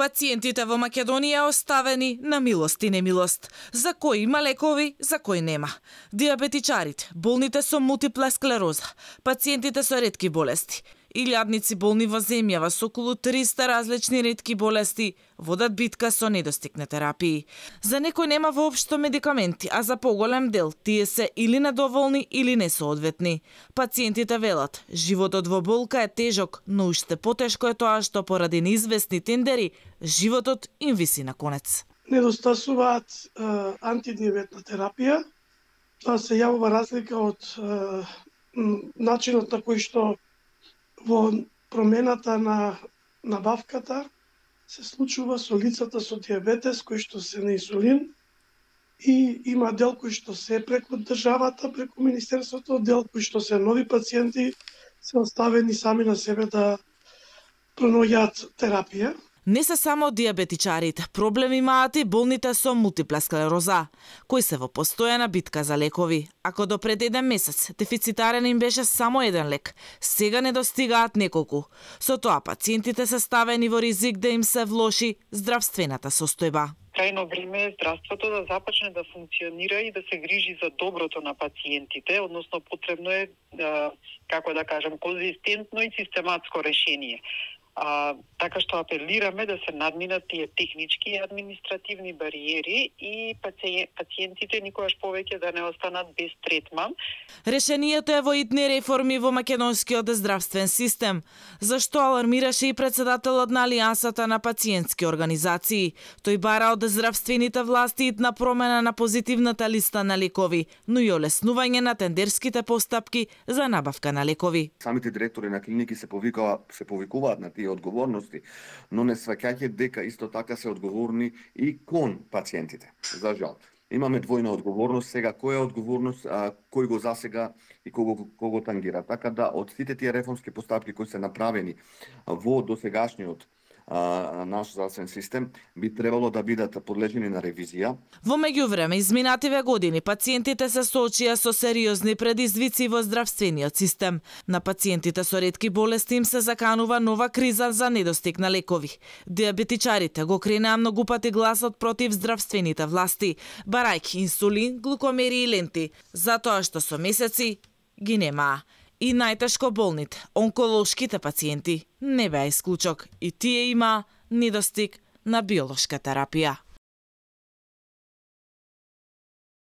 Пациентите во Македонија оставени на милост и немилост. За кој има лекови, за кој нема. Диабетичарите, болните со мултипла склероза, пациентите со ретки болести, илјадници болни во земјава со околу 300 различни ретки болести водат битка со недостиг на терапии. За некој нема воопшто медикаменти, а за поголем дел тие се или недоволни или несоодветни. Пациентите велат, животот во болка е тежок, но уште потешко е тоа што поради неизвестни тендери, животот им виси на конец. Недостасуваат антидиабетна терапија. Тоа се јавува разлика од начинот на кој што во промената на набавката се случува со лицата со диабетес кои што се на инсулин и има дел кои што се преку државата, преку Министерството, дел кои што се нови пациенти се оставени сами на себе да пронаоѓаат терапија. Не се само диабетичарите, проблем имаат и болните со мултипла склероза, кои се во постојана битка за лекови. Ако до пред 1 месец дефицитарен им беше само еден лек, сега недостигаат неколку. Со тоа пациентите се ставени во ризик да им се влоши здравствената состојба. Крајно време е здравството да започне да функционира и да се грижи за доброто на пациентите, односно потребно е, како да кажам, конзистентно и систематско решение. Така што апелираме да се надминат тие технички и административни бариери и пациентите никогаш повеќе да не останат без третман. Решението е во итни реформи во македонскиот здравствен систем, зашто алармираше и председателот на Алијансата на пациентски организации. Тој бара од здравствените власти итна промена на позитивната листа на лекови, но и олеснување на тендерските постапки за набавка на лекови. Самите директори на клиники се повикуваат на тие одговорности, но не сваќање дека исто така се одговорни и кон пациентите. За жал. Имаме двојна одговорност, сега која е одговорност, кој го засега и кого тангира. Така да од сите тие реформски постапки кои се направени во досегашниот наш здравствен систем би требало да бидат подлежени на ревизија. Во меѓувреме, изминативе години пациентите се соочија со сериозни предизвици во здравствениот систем. На пациентите со ретки болести им се заканува нова криза за недостиг на лекови. Диабетичарите го кренаа многу пати гласот против здравствените власти, барајќи инсулин, глукомери и ленти, затоа што со месеци ги немаа. И најтешко болните, онколошките пациенти, не беа исклучок, и тие има недостиг на биолошка терапија.